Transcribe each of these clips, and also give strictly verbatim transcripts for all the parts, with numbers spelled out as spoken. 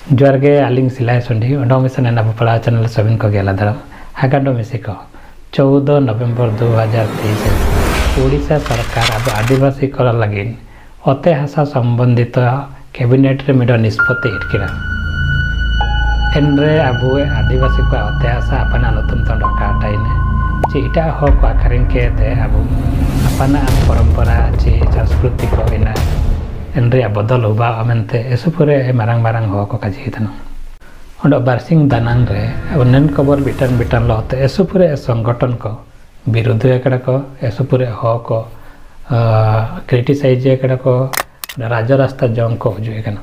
जोहार गे आलिंग सिलाई सुंडी ओंडो मिशन एना पड़ा चैनल सबिन को गेला दरम हागाडो मिसी को चौदह नवेम्बर दो हज़ार तेईस उड़ीसा सरकार अब आदिवासी कर लगिन अते हासा संबंधित कैबिनेट रे मिडो निष्पत्ति इटकिरा एनरे अब आदिवासी को अते हासा अपना नतुम तंड काटाइने चे इटा हो को आखरिन के ते अब अपना परंपरा चे संस्कृति को इना एनरे बदल होबा मेनते एसुपुरे मारांग मारांग हो को काजी तनो ओंडो बारसिंग दानांग रे अब नन खबर बिटन बिटन लहते एसुपुरे संगठन को विरोध एकड़ा को एसुपुरे हो को क्रिटिसाइज एकड़ा को राज रास्ता जंग को हुजुए कना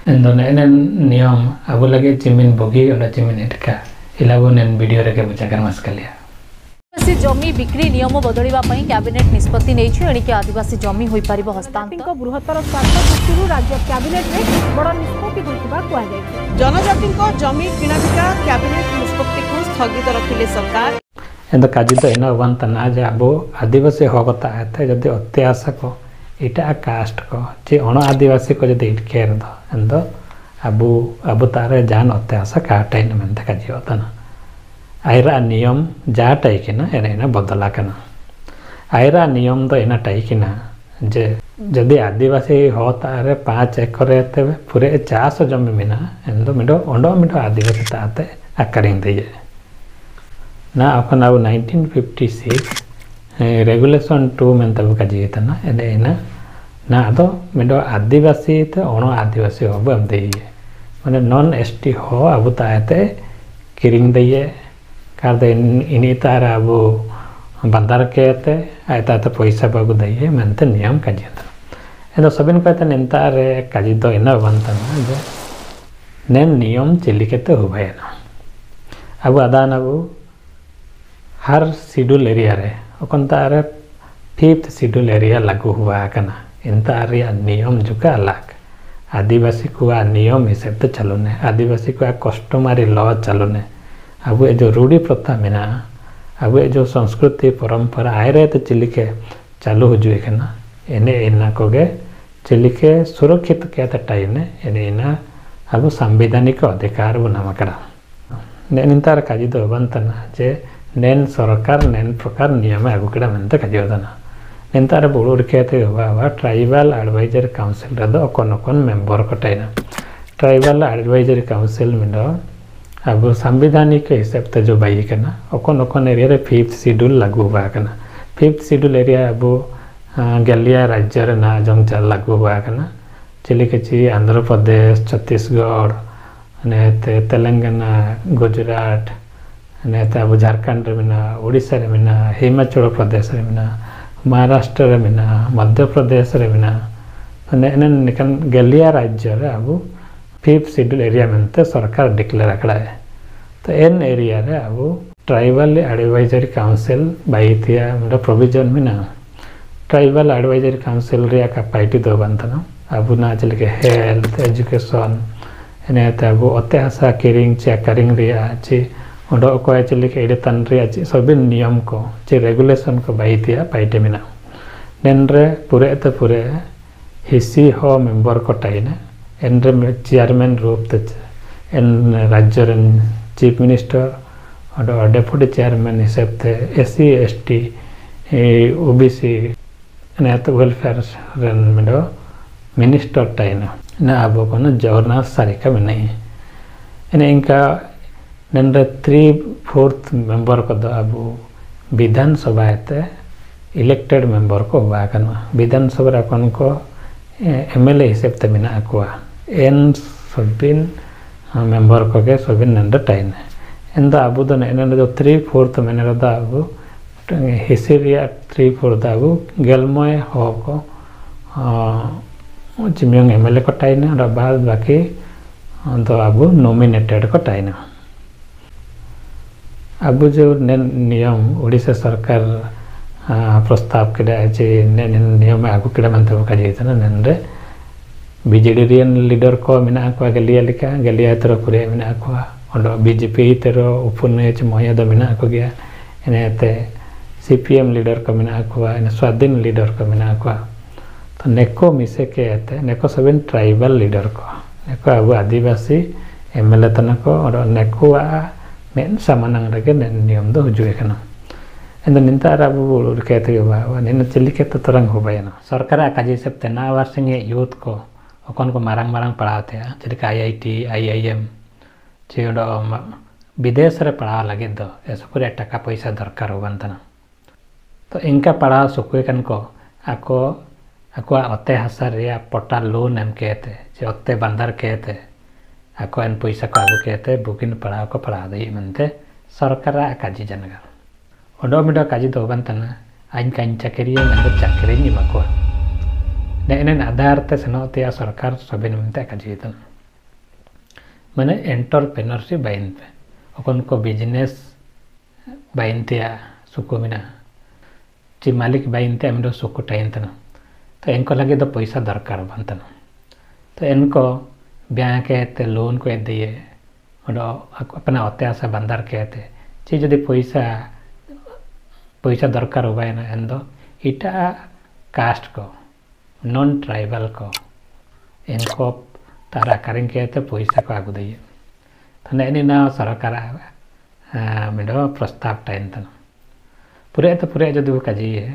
एंदो नेन नियम अब लगे चिमिन बोगी ओंडो चिमिन एटका इलाबो नेन वीडियो रे के बुझा कर मस्कलिया आदिवासी जमी बिक्री नियम बदलिବା ପାଇଁ କ୍ୟାବିନେଟ ନିଷ୍ପତ୍ତି ନେଇଛି। ଏଣିକି ଆଦିବାସୀ ଜମି ହୋଇପାରିବ ହସ୍ତାନ୍ତର। ବୃହତ୍ତର ସ୍ୱାର୍ଥ ଦୃଷ୍ଟିରୁ ରାଜ୍ୟ କ୍ୟାବିନେଟରେ ବଡ଼ ନିଷ୍ପତ୍ତି ହୋଇଥିବା କୁହାଯାଇଛି। ଜନଜାତିଙ୍କ ଜମି କିଣାବିକା କ୍ୟାବିନେଟ ନିଷ୍ପତ୍ତିକୁ ସ୍ଥଗିତ ରଖିଲେ ସରକାର। एंद काजी तो एना वन तना जे अब आदिवासी होगता है जदि अत्याशा को इटा कास्ट को जे अण आदिवासी को जदि इटकेर दो एंद अब अब तारे जान अत्याशा काटाइन मेनते काजी होता आयरा नियम जा टाइकिना एने एना बदला कना आयरा नियम तो एना टाइकिना जे जदि आदिवासी हो तारे पाँच एकर तेबे पूरे चास जमी मेना एंदो मिडो ओंडो मिडो आदिवासी ताते आकरिंग दिए ना अपन अब nineteen fifty six regulation two मेनते काजी तना एने एना ना आदो मिडो आदिवासी ते अण आदिवासी होबो एम दिए माने नॉन एसटी हो अब ताते किरिंग दिए कार इनी तार अब बंदार के आयता तो पैसा बाबू दइए मेनते नियम काजी एंदो सबिन कहते नेतार काजी दो एना बनता जे नेन नियम चिली केते हुबायना अब आदान अब हर शेड्यूल एरिया रे ओकन तार फिफ्थ शेड्यूल एरिया लागू हुआ कना इनता रिया नियम जुका अलग आदिवासी को नियम हिसाब ते चालूने आदिवासी को कस्टमारी लॉ चालूने अब जो रूढ़ी प्रथा मेना अब जो संस्कृति परंपरा आए रहे तो चिलिके चालू हुजुए कना एने एना कोगे चिलिके सुरक्षित के टाइने एने एना अब सांविधानिक अधिकार बो नाम करा नेन काजी दो बनतना जे नेन सरकार नेन प्रकार नियम आगु केड़ा मेनते काजी होतना नेनतार बुड़ुर खेते हुआ ट्राइबल एडवाइजरी काउंसिल रे दो अकन अकन मेंबर को टाइना ट्राइबल एडवाइजरी काउंसिल में दो अब सांविधानिक हिसाब ते जो बाई कना अकन अकन एरिया रे फिफ्थ शेड्यूल लागू हुआ कना फिफ्थ शेड्यूल एरिया अब गलिया राज्य रे ना जंग चाल लागू हुआ कना चिली कची आंध्र प्रदेश छत्तीसगढ़ ने तेलंगाना गुजरात ने अब झारखंड रे मेना उड़ीसा रे मेना हिमाचल प्रदेश रे मेना महाराष्ट्र रे मेना मध्य प्रदेश रे मेना ने निकन गलिया राज्य रे अब फिफ्थ शेड्यूल एरिया मेनते सरकार डिक्लेयर आकड़ा है तो एन एरिया रे अब ट्राइबल एडवाइजरी काउंसिल बाईथिया मतलब प्रोविजन में ना ट्राइबल एडवाइजरी काउंसिल रे का पाइटी दो बनतना अब ना चल के हेल्थ एजुकेशन एने ते अब अते हासा किरिंग चे करिंग रिया चे ओंडो को चल के एडे तन रिया चे सभी नियम को चे रेगुलेशन को बाईथिया पाइटे में ना नेन रे पूरे ते पूरे हिस्सी हो मेंबर को टाइने एन रे चेयरमैन रूप ते एन राज्य रे चीफ मिनिस्टर और डेप्यूटी चेयरमैन हिसाब ते S C S T O B C ने तो वेलफेयर रेन मिडो मिनिस्टर टाइना ना अब कोनो जवरना सारिका में नहीं एने इनका नेन रे थ्री फोर्थ मेंबर को दो अब विधानसभा ते इलेक्टेड मेंबर को हुआ कना विधानसभा रे कोन को एम एल ए हिसाब ते मेना कोआ एन सबिन मेंबर को के सबिन नंबर टाइन एन दा अबु दो एन दो थ्री फोर्थ मेने दा अबु हिसिरिया थ्री फोर्थ अबु गेलमय हो को चिमियंग एम एल ए को टाइन और बाद बाकी दो अबु नॉमिनेटेड को टाइन अब जो नियम उड़ीसा सरकार प्रस्ताव केड़ा जे नियम आगु केड़ा मनते काजे तना नेनरे बीजेडी रियन लीडर को मेना को गलिया लेका गलिया तेरो पुरे मेना को ओंडो बीजेपी तेरो उपने च मोया दो मेना को गया एनेते सीपीएम लीडर को मेना को एने स्वाधीन लीडर को मेना को तो नेको मिसे के एते नेको सबेन ट्राइबल लीडर को नेको अब आदिवासी एमएलए तना को और नेकुआ मेन सामानांग रगे नियम दो हुजुए कना एंद निंतार अब कहते बा निन चिल्ली के तो तरंग हो बायना सरकार काज हिसाब ते ना वारसिंग यूथ को ओकन को मारांग मारांग पढ़ाते जेलेका I I T I I M चे विदेश रे पढ़ा लगे दो ऐसा पूरे टाका पैसा दरकार होबन तना तो इनका पढ़ा सुकुए कन को आको आको अते हासा रे पटा लोन एम कहते चे अते बंदर कहते आको एन पैसा को आगु कहते बुकिन पढ़ा को पढ़ा दे मनते सरकार काजी जनगर ओडो मिडो काजी दो होबन तना आइन काइन चाकरी मन चाकरी निमा को ने आधार ते सेनोते सरकार सबिन मनते काजी तना माने एंटरप्रेन्योरशिप बाइन पे ओकन को बिजनेस बाइन ते सुको मिना ची मालिक बाइन ते अमिडो सुको टाइन तना तो इनको लगे तो पैसा दरकार बनतना तो इनको बैंक ते लोन को दिए और अपना अत्याशा बंदर कहते ची जदि पैसा पैसा दरकार होबायना एन दो इटा कास्ट को नॉन ट्राइबल को इनको तारा करें कहते पैसा को आगु दिए तो नहीं ना सरकार मिडो प्रस्ताव टाइम तना पूरे तो पूरे जदि काजी है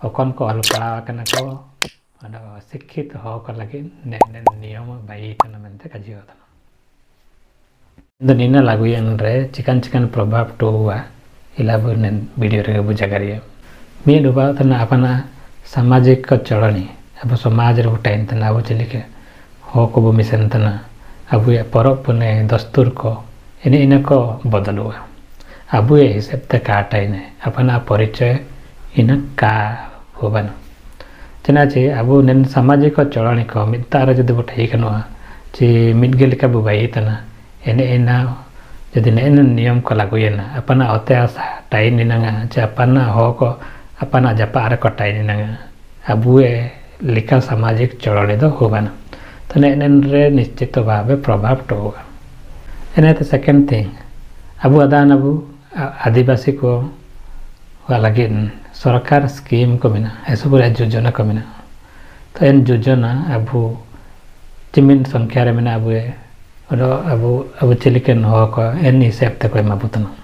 ओकन को अल पढ़ाव कना को और शिक्षित हो को लगे ने ने नियम बाई तना मनते काजी होतना निना लागुयन रे चिकन चिकन प्रभाव तो हुआ इलाबु ने वीडियो रे बुझा करिए मी डुबा तना अपना सामाजिक चलनी अब समाज रे टाइम तना अब चलिके हो को मिशन तना अब ये परब पुने दस्तूर को इन्हें इन्हें को बदलुआ अब ये हिसाब ते का टाइम है अपना परिचय इन्हें का होबन चनाचे अब नेन सामाजिक चलनी को मितार जदि बो ठीक नुआ चे मिदगे लेका बो बाई तना एने एना जदि नेन नियम को लागुयेना अपना अत्याशा टाइम निनांगा चे अपना हो को अपना जपा को टाइम निनांगा अब ये लेका सामाजिक चलनी दो होबन तो नेन रे निश्चित भावे प्रभाव तो होगा एने तो सेकंड थिंग अब अदान अब आदिवासी को लगे सरकार स्कीम को मिना ऐसा पूरा योजना को मिना तो इन योजना अब चिमिन संख्या रे मिना अब और अब अब चिलिकन हो को एन हिसाब ते कोई माबुतना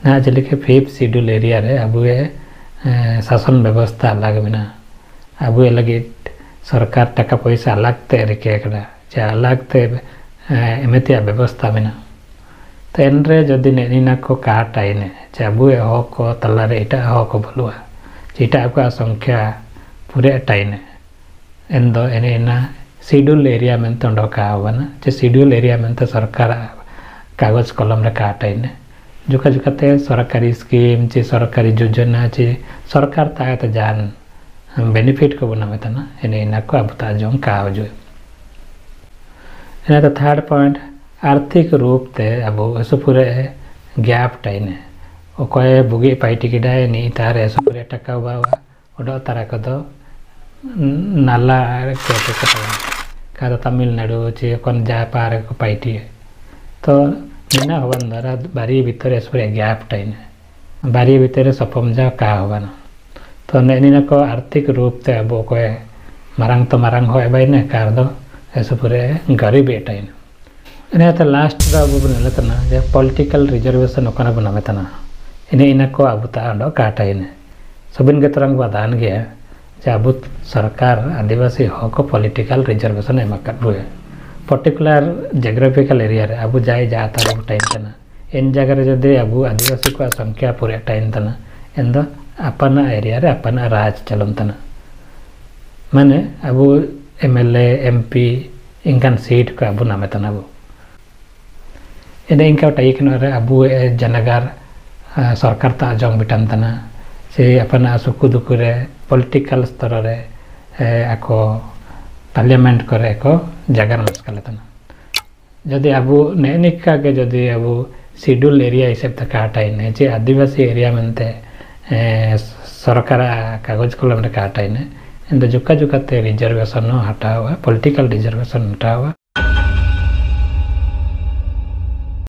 ना चिलिके फिफ्थ शेड्यूल एरिया रे अब ये शासन व्यवस्था अलग मिना अब ये लगे सरकार टाका पैसा अलग ते रिके करा चे अलग ते एमेतिया व्यवस्था मिना तो एन रे जदि नेनिना को काट आइने चे अब ये हो को तला रे इटा हो को बोलुआ चे इटा को संख्या पूरे टाइने एन दो एने एना शेड्यूल एरिया में तो डका होना चे शेड्यूल एरिया में तो सरकार कागज कलम रे काट आइने जुका जुकाते सरकारी स्कीम चे सरकारी योजना चे सरकार ताकत जान बेनिफिट को बना तना एने एना को अब ता जों का हो जो एना तो थर्ड पॉइंट आर्थिक रूप ते अब ऐसो पूरे गैप टाइने ओकय बुगी पाइटी किडाय नी तार ऐसो पूरे टका हुआ ओडो तारा को दो नाला के के का तमिलनाडु चे कोन जा पार को पाइटी तो निना होवन द्वारा बारी भीतर ऐसो पूरे गैप टाइने बारी भीतर सपम जा का होवन तो नेनिना को आर्थिक रूप ते अब ओकय मारांग तो मारांग होय बाइने कार दो ऐसो पूरे गरीब टाइने इन्हें तो लास्ट दा अब बना तना जे पॉलिटिकल रिजर्वेशन ओकना बना तना इन्हें इन्हें को अब ता अंडो काटा इन्हें सबिन के तरंग बादान गया जे अब सरकार आदिवासी हो को पॉलिटिकल रिजर्वेशन एमा कटबुए पर्टिकुलर जियोग्राफिकल एरिया रे अब जाए जाता अब टाइम तना इन जगह रे जदि अब आदिवासी को संख्या पूरे टाइम तना इन दो अपना एरिया रे अपना राज चलन तना माने अब एमएलए एमपी इनकान सीट को अब नामे तना अब इन्हें इनका टाइक रे अब जनगार सरकार ता जंग बिटान तना से अपना सुकु दुकु रे पॉलिटिकल स्तर रे आको पार्लियामेंट करे को जगह मस्कले तना जदि अब नेनिका के जदि अब शेड्यूल एरिया हिसाब ते काटाइने जे आदिवासी एरिया मनते सरकार कागज कलम रे काटाइने इन जुका जुकाते रिजर्वेशन हटावा पॉलिटिकल रिजर्वेशन हटावा।